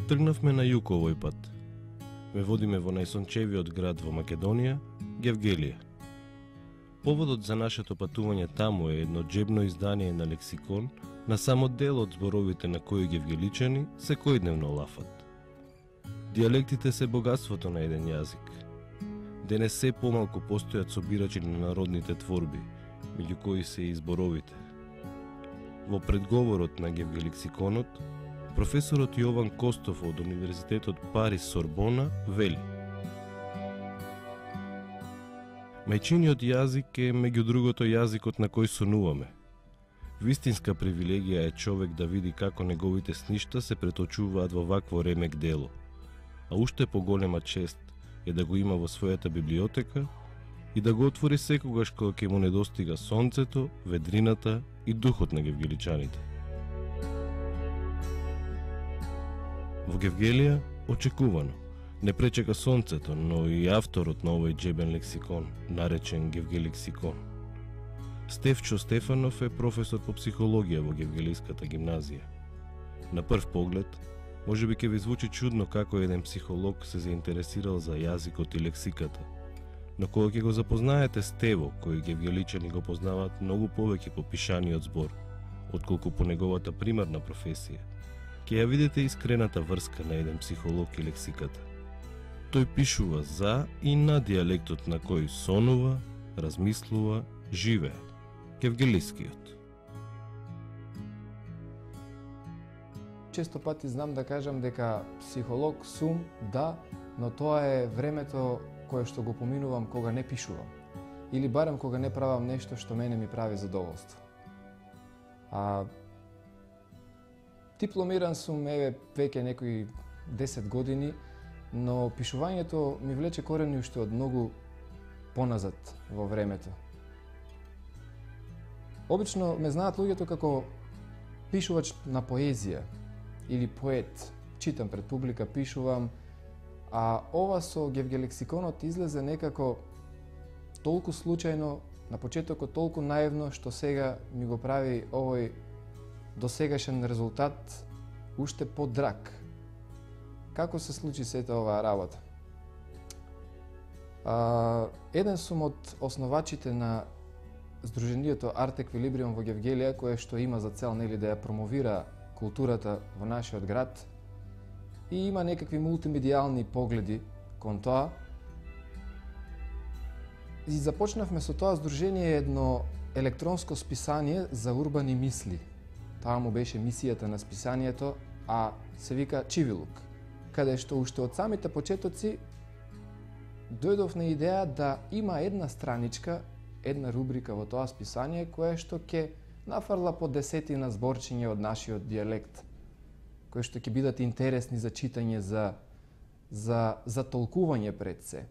Тргнавме на југ овој пат. Ме водиме во најсончевиот град во Македонија, Гевгелија. Поводот за нашето патување таму е едно џебно издание на лексикон на само дел од зборовите на кои гевгеличани секојдневно лафат. Диалектите се богатството на еден јазик. Денес се помалку постојат собирачи на народните творби, меѓу кои се и зборовите. Во предговорот на Гевгелексиконот, професорот Јован Костов од Универзитетот Париз Сорбона вели: мајчиниот јазик е меѓу другото јазикот на кој сонуваме. Вистинска привилегија е човек да види како неговите сништа се преточуваат во вакво ремек дело, а уште поголема чест е да го има во својата библиотека и да го отвори секогаш кога ќе му недостига сонцето, ведрината и духот на гевгеличаните. Во Гевгелија, очекувано, не пречека сонцето, но и авторот на овој џебен лексикон, наречен Гевгелексикон. Стефчо Стефанов е професор по психологија во Гевгелиската гимназија. На прв поглед, може би ќе ви звучи чудно како еден психолог се заинтересирал за јазикот и лексиката, но кога ќе го запознаете Стево, кој гевгеличани го познаваат многу повеќе по пишаниот збор, отколку по неговата примарна професија, ќе ја видите искрената врска на еден психолог и лексиката. Тој пишува за и на диалектот на кој сонува, размислува, живее, гевгелискиот. Често пати знам да кажам дека психолог сум, да, но тоа е времето кое што го поминувам кога не пишувам. Или барем кога не правам нешто што мене ми прави задоволство. Дипломиран сум веќе некои 10 години, но пишувањето ми влече корени уште од многу поназад во времето. Обично ме знаат луѓето како пишувач на поезија или поет. Читам пред публика, пишувам, а ова со Гевгелексиконот излезе некако толку случајно, на почетокот толку наивно, што сега ми го прави овој досегашен резултат уште подраг. Како се случи сета оваа работа? Еден сум од основачите на Сдруженијето Арт Еквилибриум во Гевгелија, кое што има за цел да ја промовира културата во нашиот град и има некакви мултимедијални погледи кон тоа. И започнавме со тоа здружение едно електронско списание за урбани мисли. Таа му беше мисијата на списанието, а се вика Чивилук, каде што уште од самите почетоци дојдов на идеја да има една страничка, една рубрика во тоа списание која што ќе нафрла по десетина зборчиња од нашиот дијалект, кои што ќе бидат интересни за читање, за толкување пред се.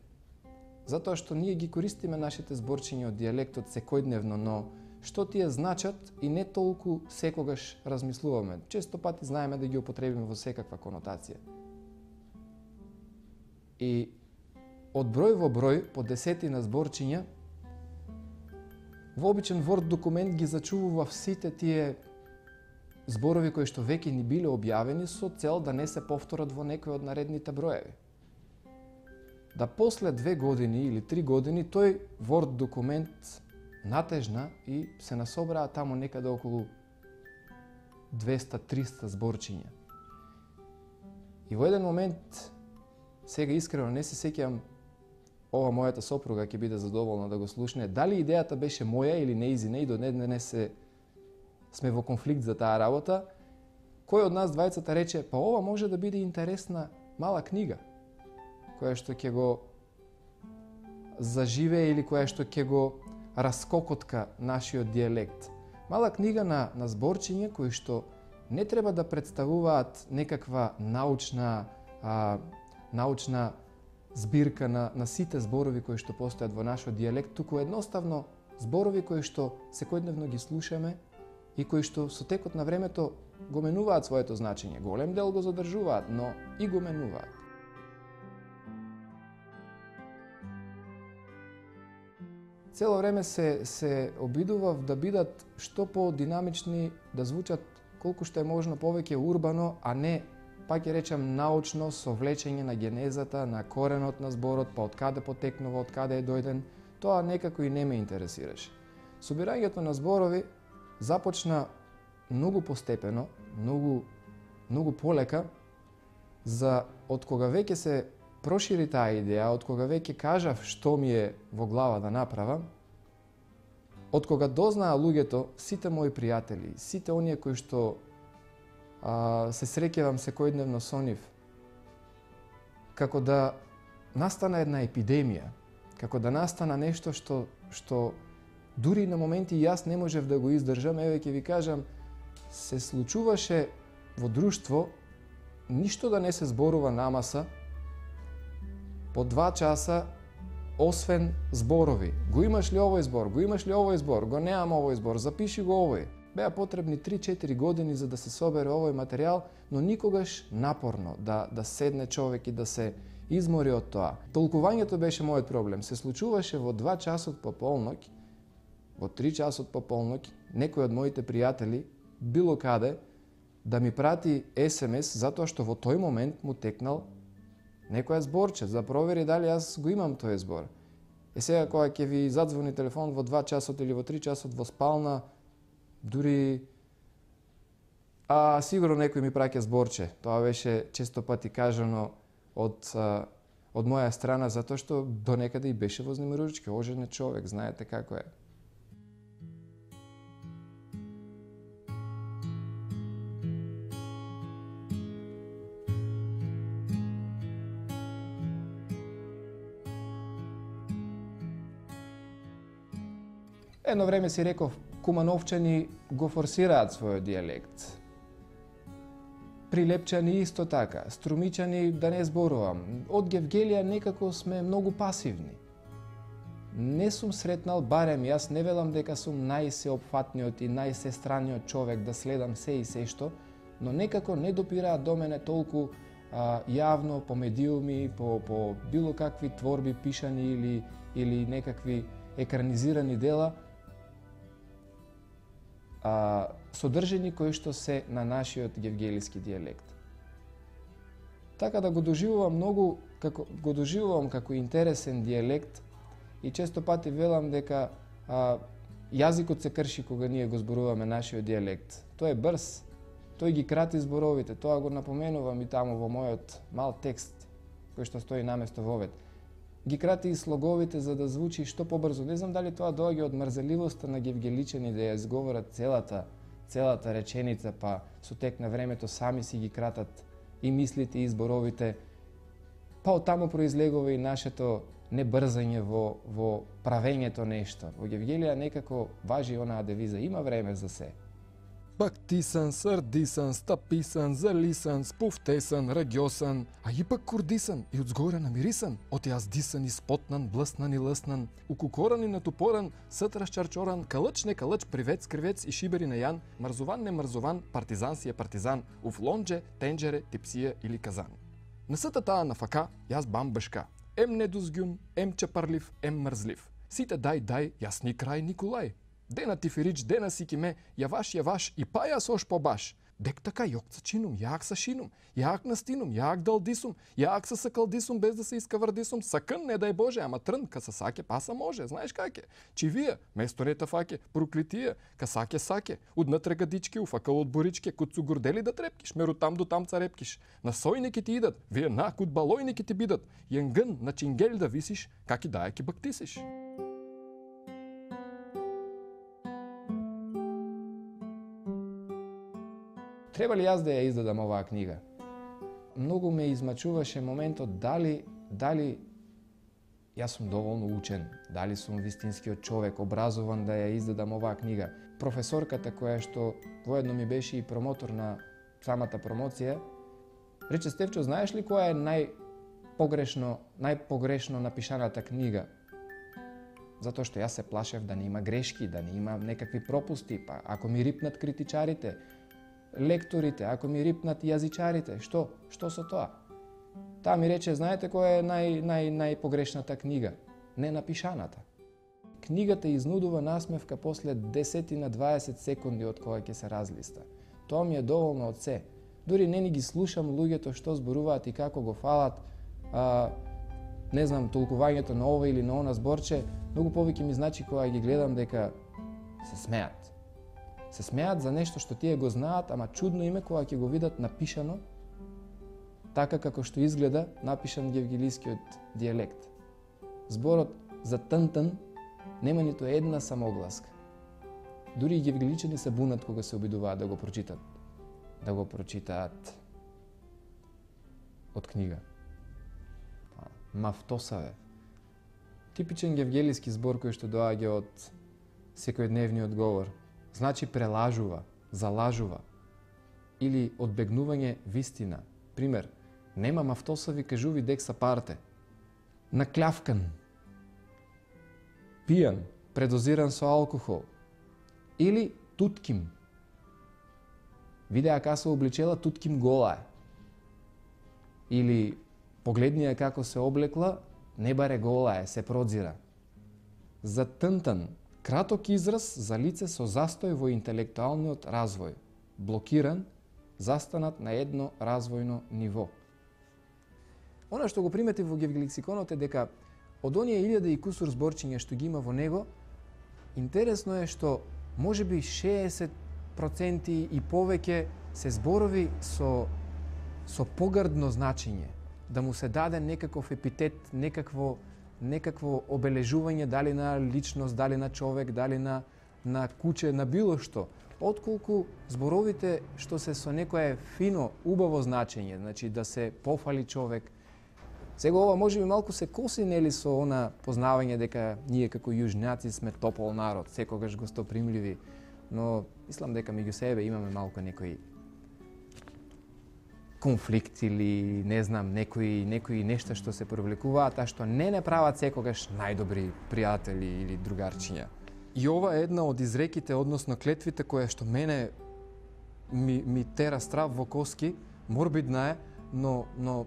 Затоа што ние ги користиме нашите зборчиња од дијалектот секојдневно, но што тие значат и не толку секогаш размислуваме. Често пати знаеме да ги употребиме во секаква конотација. И од број во број, по десетина зборчиња, во обичен Word документ ги зачувував сите тие зборови кои што веќе ни биле објавени со цел да не се повторат во некој од наредните броеви. Да после 2 години или 3 години тој Word документ натежна и се насобраа таму некаде околу 200-300 зборчиња. И во еден момент, сега искрено не се сеќавам, ова мојата сопруга ќе биде задоволна да го слушне, дали идејата беше моја или неизина и до днес сме во конфликт за таа работа, кој од нас двајцата рече, па ова може да биде интересна мала книга, која што ќе го заживее или која што ќе го раскокотка нашиот дијалект. Мала книга на зборчиња кои што не треба да представуваат некаква научна збирка на сите зборови кои што постојат во нашиот дијалект, туку едноставно зборови кои што секојдневно ги слушаме и кои што со текот на времето го менуваат своето значење. Голем дел го задржуваат, но и го менуваат. Цело време се обидував да бидат што по-динамични, да звучат колку што е можно повеќе урбано, а не пак ќе речам научно совлечење на генезата, на коренот на зборот, па од каде потекнува, од каде е дојден, тоа некако и не ме интересираше. Собирањето на зборови започна многу постепено, многу полека, за од кога веќе се прошири таа идеја, од кога веќе кажав што ми е во глава да направам, од кога дознаа луѓето, сите мои пријатели, сите оние кои што се среќавам секојдневно со нив, како да настана една епидемија, како да настана нешто што дури на моменти јас не можев да го издржам, еве ќе ви кажам, се случуваше во друштво, ништо да не се зборува намаса, по 2 часа, освен зборови. Го имаш ли овој збор? Го имаш ли овој збор? Го немам овој збор, запиши го овој. Беа потребни 3-4 години за да се собере овој материјал, но никогаш напорно да седне човек и да се измори од тоа. Толкувањето беше мојот проблем. Се случуваше во 2 часот по полноќ, во 3 часот по полноќ, некој од моите пријатели, било каде, да ми прати СМС, затоа што во тој момент му текнал некоја зборче, за провери дали јас го имам тој збор. Сега кога ќе ви задзвони телефон во 2 часот или во 3 часот во спална, дури сигурно некој ми праќа зборче. Тоа беше често пати кажано од моја страна, затоа што до некаде и беше вознемирувачки. Оженет човек, знаете како е. Едно време си реков, кумановчани го форсираат својот дијалект. Прилепчани исто така, струмичани да не зборувам. Од Гевгелија некако сме многу пасивни. Не сум сретнал, барем јас не велам дека сум најсеопфатниот и најсестраниот човек да следам се и се што, но некако не допираат до мене толку јавно по медиуми, по било какви творби пишани или некакви екранизирани дела, содржини кои што се на нашиот гевгелиски дијалект. Така да го доживувам како интересен дијалект и често пати велам дека јазикот се крши кога ние го зборуваме нашиот дијалект. Тој е брз, тој ги крати зборовите, тоа го напоменувам и таму во мојот мал текст кој што стои наместо вовед. Ги крати и слоговите за да звучи што побрзо. Не знам дали тоа доаѓа од мрзеливоста на гевгеличани да ја изговорат целата реченица, па со тек на времето сами си ги кратат и мислите и зборовите. Па од таму произлегува и нашето небрзање во правењето нешто. Во Гевгелија некако важи онаа девиза, има време за се. Бактисан, срдисан, стаписан, залисан, спуфтесан, рагјосан, а ипак курдисан и одзгоре намирисан, од јаздисан и спотнан, блеснан и леснан, укукоран и натупоран, сет расчарчоран, калъч не калъч, привец, кривец и шибери на јан, мрзован не мрзован, партизан си е партизан, уф лонџе, тенџере, типсија или казан. На сата таа на фака, јас бам башка, ем недузгјун, ем чепарлив, ем мрзлив. Сите дај, јас ни крај Николај. Дена ти фирич, дена си киме, јаваш и па јас ош побаш. Дек така јокца чинум, јак са шинум, јак настинум, јак далдисум, јак са сакалдисум без да се искавардисум, сакън не дај Боже, ама трн ка са саке паса може, знаеш каке? Чивија, место рета факе, проклитија, ка саке, уднатре гадички, уфакал од боричке, куд су гордели да трепкиш, меру там до там царепкиш. На сојники ти идат, вие на куд балојники ти бидат, јенгън на чингел да висиш, каки даја ки бактисиш. Треба ли јас да ја издадам оваа книга? Многу ме измачуваше моментот дали јас сум доволно учен, дали сум вистинскиот човек, образован да ја издадам оваа книга. Професорката која што воедно ми беше и промотор на самата промоција, рече: Стефчо, знаеш ли која е најпогрешно напишаната книга? Затоа што јас се плашев да не има грешки, да не има некакви пропусти, па ако ми рипнат критичарите, лекторите, ако ми рипнат јазичарите, што со тоа? Таа ми рече: знаете која е најпогрешната книга? Ненапишаната. Книгата изнудува насмевка после 10 на 20 секунди од кога ќе се разлиста. Тоа ми е доволно од се. Дури не ни ги слушам луѓето што зборуваат и како го фалат, не знам, толкувањето на ова или на она зборче, многу повеќе ми значи кога ги гледам дека се смеат. Се смеат за нешто што тие го знаат, ама чудно име кога ќе го видат напишано така како што изгледа напишан гевгелискиот дијалект. Зборот за тънтън нема ниту една самогласка. Дури и гевгеличани се бунат кога се обидуваат да го прочитат. Да го прочитаат од книга. Мафтосаве. Типичен гевгелиски збор кој што доаѓа од секојдневниот говор. Значи прелажува, залажува или одбегнување вистина. Пример, нема мафтосави кажуви декса парте. Наклявкан, пијан, предозиран со алкохол. Или тутким. Видеа како се обличела, тутким гола е. Или погледнија како се облекла, не баре гола е, се продзира. За тънтън, краток израз за лице со застој во интелектуалниот развој. Блокиран, застанат на едно развојно ниво. Она што го примети во гевгеликсиконот е дека од оние 1000 и кусур зборчиња што ги има во него, интересно е што можеби 60% и повеќе се зборови со погардно значење, да му се даде некаков епитет, некакво обележување, дали на личност, дали на човек, дали на куче, на било што. Отколку зборовите што се со некое фино, убаво значење, значи да се пофали човек. Сега ова можеби малку се коси нели со она познавање дека ние како јужњаци сме топол народ, секогаш гостопримливи, но мислам дека меѓу себе имаме малку некои конфликт или не знам, некои нешта што се провлекуваат, а што не прават секогаш најдобри пријатели или другарчиња. И ова е една од изреките, односно клетвите која што мене ми тера страв во коски, морбидна е, но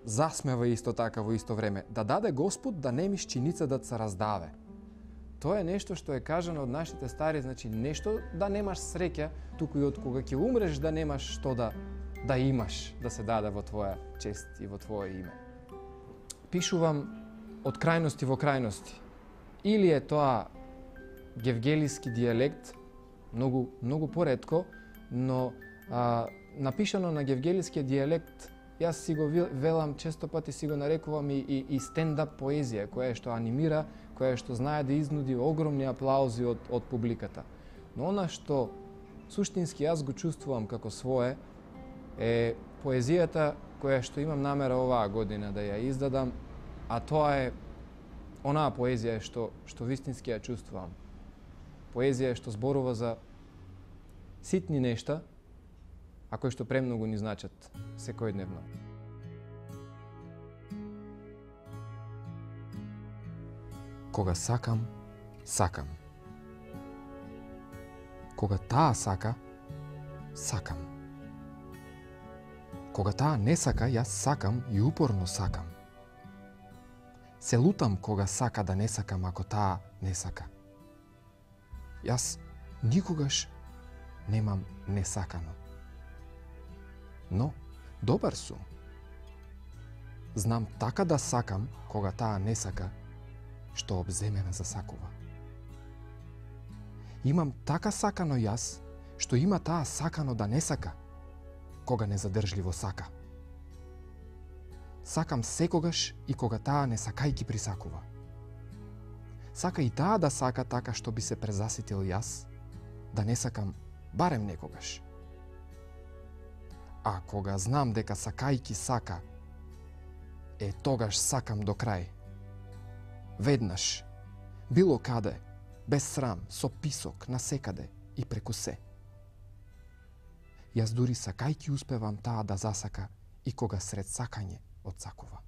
засмева исто така во исто време. Да даде Господ да не ми шчиница да се раздаве. Тоа е нешто што е кажано од нашите стари, значи нешто да немаш среќа, туку и од кога ќе умреш да немаш што да имаш, да се даде во твоја чест и во твое име. Пишувам од крајности во крајности. Или е тоа гевгелиски дијалект, многу поретко, но напишано на гевгелискиот дијалект, јас си го велам, често пати си го нарекувам и стендап поезија, која што анимира, која што знае да изнуди огромни аплаузи од публиката. Но она што суштински јас го чувствувам како свое, е поезијата која што имам намера оваа година да ја издадам, а тоа е онаа поезија што вистински ја чувствувам. Поезија што зборува за ситни нешта, а кои што премногу ни значат секојдневно. Кога сакам, сакам. Кога таа сака, сакам. Кога таа не сака, јас сакам и упорно сакам. Се лутам кога сака да не сакам ако таа не сака. Јас никогаш немам несакано. Но, добар сум. Знам така да сакам кога таа не сака, што обземена засакува. Имам така сакано јас, што има таа сакано да не сака, кога незадржливо сака. Сакам секогаш и кога таа не сакајки присакува. Сака и таа да сака така што би се презаситил јас, да не сакам барем некогаш. А кога знам дека сакајки сака, тогаш сакам до крај. Веднаш, било каде, без срам, со писок, насекаде и преку се. Јас дури сакајки успевам таа да засака и кога сред сакање отсакува.